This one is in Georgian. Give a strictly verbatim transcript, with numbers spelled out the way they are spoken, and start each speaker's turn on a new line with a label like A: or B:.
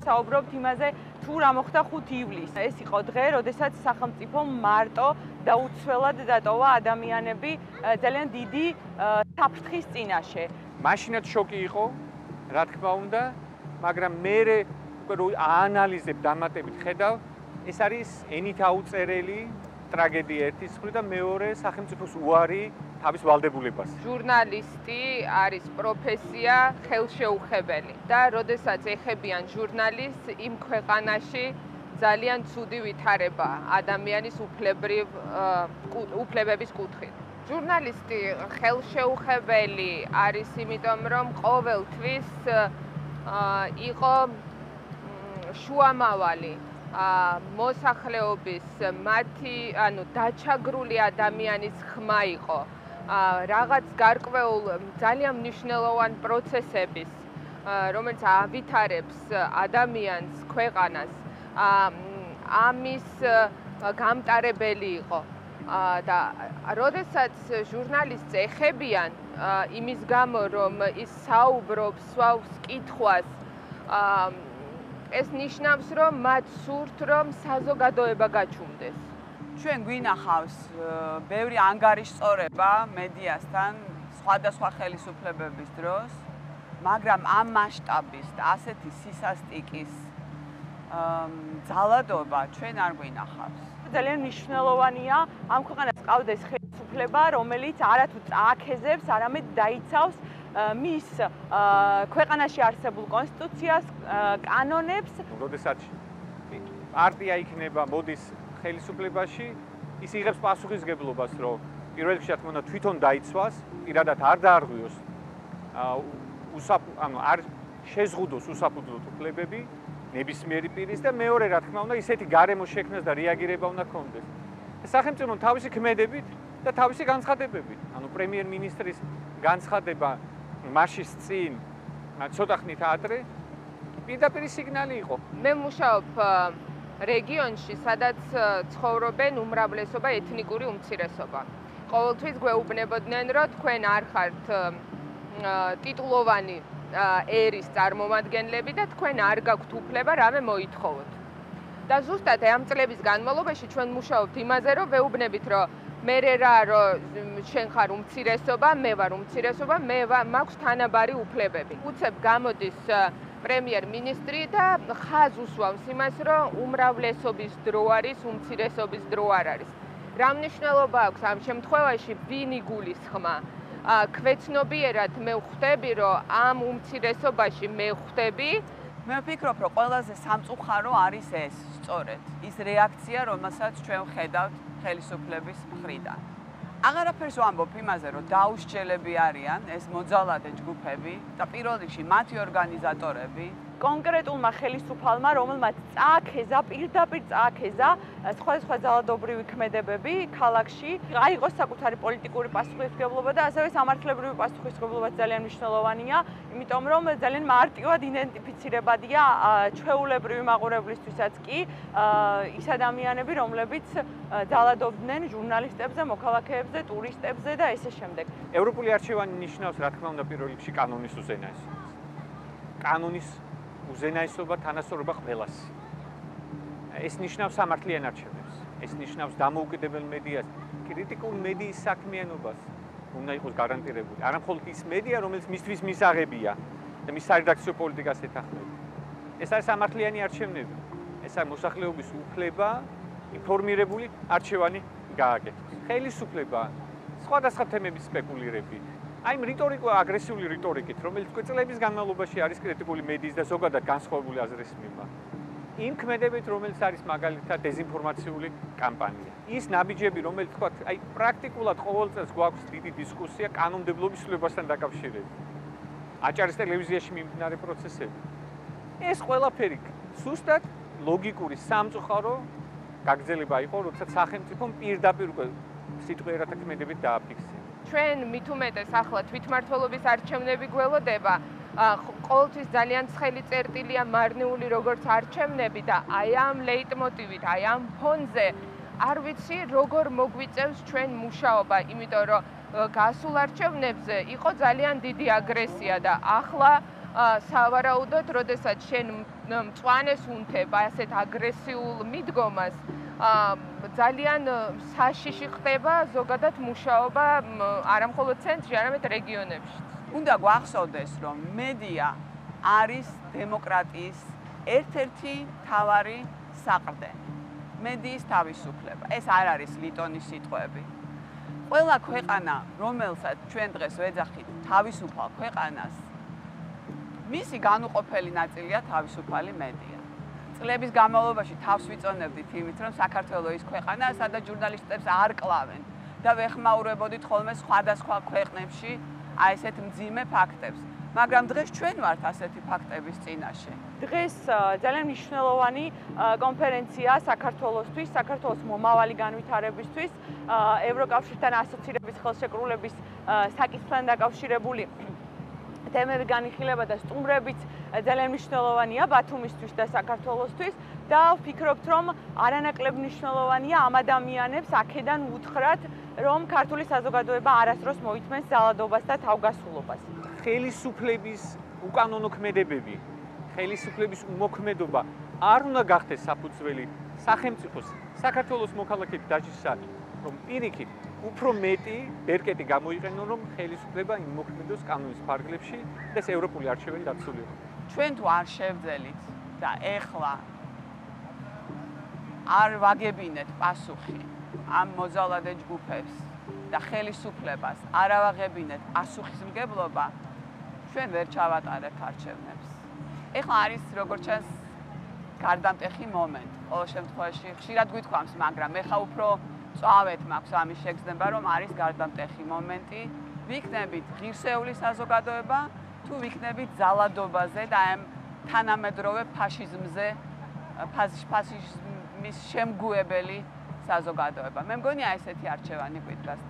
A: ვსაუბრობთ იმაზე, თუ რა მოხდა ხუთი ივლისს. ეს იყო დღე, როდესაც სახელმწიფომ მარტო და უცვლად დატოვა ადამიანები ძალიან დიდი საფრთხის წინაშე.
B: მაშინაც შოკი იყო, რა თქმა უნდა, მაგრამ მე რო აანალიზებ დამატებით ხედავ, ეს არის ენით აუწერელი ტრაგედია ერთის მხრივ და მეორე სახელმწიფოს უარი თავის ვალდებულებას.
C: ჟურნალისტი არის პროფესია ხელშეუხებელი და როდესაც ეხებიან ჟურნალისტს იმ ქვეყანაში ძალიან ცუდი ვითარება ადამიანის უფლებრივ უფლებების კუთხით. ჟურნალისტი ხელშეუხებელი არის იმიტომ, რომ ყოველთვის იყო შუამავალი მოსახლეობის მათი, ანუ დაჩაგრული ადამიანის ხმა იყო. რაღაც გარკვეულ ძალიან მნიშვნელოვან პროცესების, რომელიც ავითარებს ადამიანს, ქვეყანას, ამის გამტარებელი იყო. და როდესაც ჟურნალისტს ეხებიან იმის გამო, რომ ის საუბრობს, სვავს კითხვას, ეს ნიშნავს, რომ მათ სურთ, რომ საზოგადოება გაჩუმდეს.
A: ჩვენ გვინახავს ბევრი ანგარიშწორება მედიასთან სხვადასხვა ხელისუფლებების დროს, მაგრამ ამ მასშტაბის და ასეთი სისასტიკის ძალადობა ჩვენ არ გვინახავს. ძალიან მნიშვნელოვანია ამ ქვეყანას ყავდეს ხელისუფლება, რომელიც არათუ წააქეზებს, არამედ დაიცავს მის ქვეყანაში არსებულ კონსტიტუციას, კანონებს.
B: როდესაც პარტია იქნება, მოდის ხელისუფლებაში, ის იღებს პასუხისგებლობას, რომ პირველ რიგში რა თქმა უნდა თვითონ დაიცვას, პირადად არ დაარღვიოს, ანუ არ შეზღუდოს უსაფუძვლოდ უფლებები ნებისმიერი პირის და მეორე რა თქმა უნდა ისეთი გარემო შექმნას და რეაგირება უნდა ქონდეს. სახელმწიფომ თავისი ქმედებით და თავისი განცხადებებით, ანუ პრემიერ-მინისტრის განცხადება მაშის წინ ცოტა ხნით ადრე პირდაპირ სიგნალი იყო.
C: მე მუშაობ რეგიონში, სადაც ცხოვრობენ უმრავლესობა ეთნიკური უმცირესობა. ყოველთვის გვეუბნებოდნენ, რომ თქვენ არ ხართ ტიტულოვანი ერის წარმომადგენლები და თქვენ არ გაქვთ უფლება რამე მოითხოვოთ. და ზუსტად ამ წლების განმავლობაში ჩვენ მუშაობთ იმაზე, რომ ვეუბნებით, რომ მე რა რომ შენ ხარ უმცირესობა, მე ვარ უმცირესობა, მე მაქვს თანაბარი უფლებები. უცებ გამოდის პრემიერ-მინისტრი და ხაზ უსვამს იმას, რომ უმრავლესობის დრო არის, უმცირესობის დრო არ არის. რა მნიშვნელობა აქვს ამ შემთხვევაში ვინ იგულისხმა? ქვეცნობიერად მე ვხვდები, რომ ამ უმცირესობაში მე ვხვდები.
A: მე ვფიქრობ, რომ ყველაზე სამწუხარო არის ეს, სწორედ, ის რეაქცია, რომელსაც ჩვენ ვხედავთ ხელისუფლების მხრიდან. აღარაფერს ვამბობ იმაზე, რომ დაუსჯელები არიან ეს მოძალადე ჯგუფები და პირველ რიგში მათი ორგანიზატორები. კონკრეტულმა ხელისუფალმა, რომელმაც წააქეზა, პირდაპირ წააქეზა სხვადასხვა ძალადობრივი ქმედებები ქალაქში, აიღოს საკუთარი პოლიტიკური პასუხისმგებლობა და ასევე სამართლებრივი პასუხისმგებლობა ძალიან მნიშვნელოვანია, იმიტომ რომ ძალიან მარტივად იდენტიფიცირებადია ჩვეულებრივი მაყურებლისთვისაც კი ის ადამიანები, რომლებიც ძალადობდნენ ჟურნალისტებზე, მოქალაქეებზე, ტურისტებზე და ესე შემდეგ.
B: ევროპული არჩევანი ნიშნავს, რა თქმა უნდა, პირველ რიგში კანონის უზენაესობას. კანონის უზენაესობა თანასწორობა ყველას. ეს ნიშნავს სამართლიან არჩევნებს. ეს ნიშნავს დამოუკიდებელ მედიას, კრიტიკულ მედიის საქმიანობას უნდა იყოს გარანტირებული. არა მხოლოდ ის მედია, რომელიც მისთვის მისაღებია და მის სარედაქციო პოლიტიკას ეთანხმება. ეს არის სამართლიანი არჩევნები. ეს არის მოსახლეობის უფლება ინფორმირებული არჩევანი გააკეთოს. ხელისუფლება სხვადასხვა თემების სპეკულირებით. აი იმ რიტორიკულ აგრესიული რიტორიკით, რომელიც წლების განმავლობაში არის კრიტიკული მედიის და ზოგადად განსხვავებული აზრის მიმართ. იმ ქმედებით, რომელიც არის მაგალითად დეზინფორმაციული კამპანია. ის ნაბიჯები, რომელიც თქვა, აი პრაქტიკულად ყოველ წელს გვაქვს დიდი დისკუსია კანონმდებლობის ცვლილებასთან დაკავშირებით. აჭარის ტელევიზიაში მიმდინარე პროცესები. ეს ყველაფერი სუსტად ლოგიკური სამწუხარო გაგრძელება იყო, როდესაც სახელმწიფომ პირდაპირ უკვე სიტყვიერათა ქმედებით დააფიქსირა.
C: ჩვენ მით უმეტეს ახლა თვითმმართველობის არჩევნები გველოდება, ყოველთვის ძალიან ცხელი წერტილია მარნეული როგორც არჩევნები და აი ამ ლეიტმოტივით, აი ამ ფონზე არ ვიცი როგორ მოგვიწევს ჩვენ მუშაობა, იმიტომ რომ გასულ არჩევნებზე იყო ძალიან დიდი აგრესია და ახლა სავარაუდოდ, როდესაც შენ მწვანეს უნთება, ასეთ აგრესიულ მიდგომას, ძალიან საშიში ხდება ზოგადად მუშაობა არა მხოლოდ ცენტრში, არამედ რეგიონებში.
A: უნდა გვახსოვდეს, რომ მედია არის დემოკრატიის ერთ-ერთი მთავარი საყრდენი. მედიის თავისუფლება. ეს არ არის ლიტონის სიტყვები. ყველა ქვეყანა, რომელსაც ჩვენ დღეს ვეძახით თავისუფალ ქვეყანას, მისი განუყოფელი ნაწილია თავისუფალი მედია. წლების განმავლობაში თავს ვიწონებდით იმით, რომ საქართველოს ის ქვეყანაა, სადაც ჟურნალისტებს არ კლავენ და ვეხმაურებოდით ხოლმე სხვადასხვა ქვეყნებში აი ესეთ მძიმე ფაქტებს. მაგრამ დღეს ჩვენ ვართ ასეთი ფაქტების წინაშე.
D: დღეს ძალიან მნიშვნელოვანი კონფერენცია საქართველოსთვის, საქართველოს მომავალი განვითარებისთვის, ევროკავშირთან ასოცირების ხელშეკრულების საკითხთან დაკავშირებული თემები განიხილება და სტუმრებიც ძალიან მნიშვნელოვანია ბათუმისთვის და საქართველოსთვის და ვფიქრობთ, რომ არანაკლებ მნიშვნელოვანია ამ ადამიანებს აქედან უთხრათ, რომ ქართული საზოგადოება არასდროს მოითმენს ძალადობას და თავგასულობას.
B: ხელისუფლების უკანონო ქმედებები, ხელისუფლების უმოქმედობა არ უნდა გახდეს საფუძველი სახელმწიფოს საქართველოს მოქალაქეების დაჯისა, რომ პირიქით უფრო მეტი ბერკეტი გამოიყენონ, რომ ხელისუფლება იმოქმედოს კანონის ფარგლებში და ეს ევროპული არჩევანი დაცულიყო.
A: ჩვენ თუ არ შევძელით და ეხლა არ ვაგებინეთ პასუხი ამ მოძალადე ჯგუფებს და ხელისუფლებას არ ავაღებინეთ პასუხისმგებლობა, ჩვენ ვერ ჩავატარებთ არჩევნებს. ეხლა არის როგორც ჩანს გარდამტეხი მომენტი. ყოველ შემთხვევაში ხშირად გვითქვამს, მაგრამ ეხლა უფრო წავეთ მაქვს ამის შეგრძნება, რომ არის გარდამტეხი მომენტი. ვიქნებით ღირსეული საზოგადოება, თუ ვიქნებით ძალადობაზე და ამ თანამედროვე ფაშიზმზე, ფაშიზმის შემგუებელი საზოგადოება. მე მგონია ესეთი არჩევანი გვიდგას.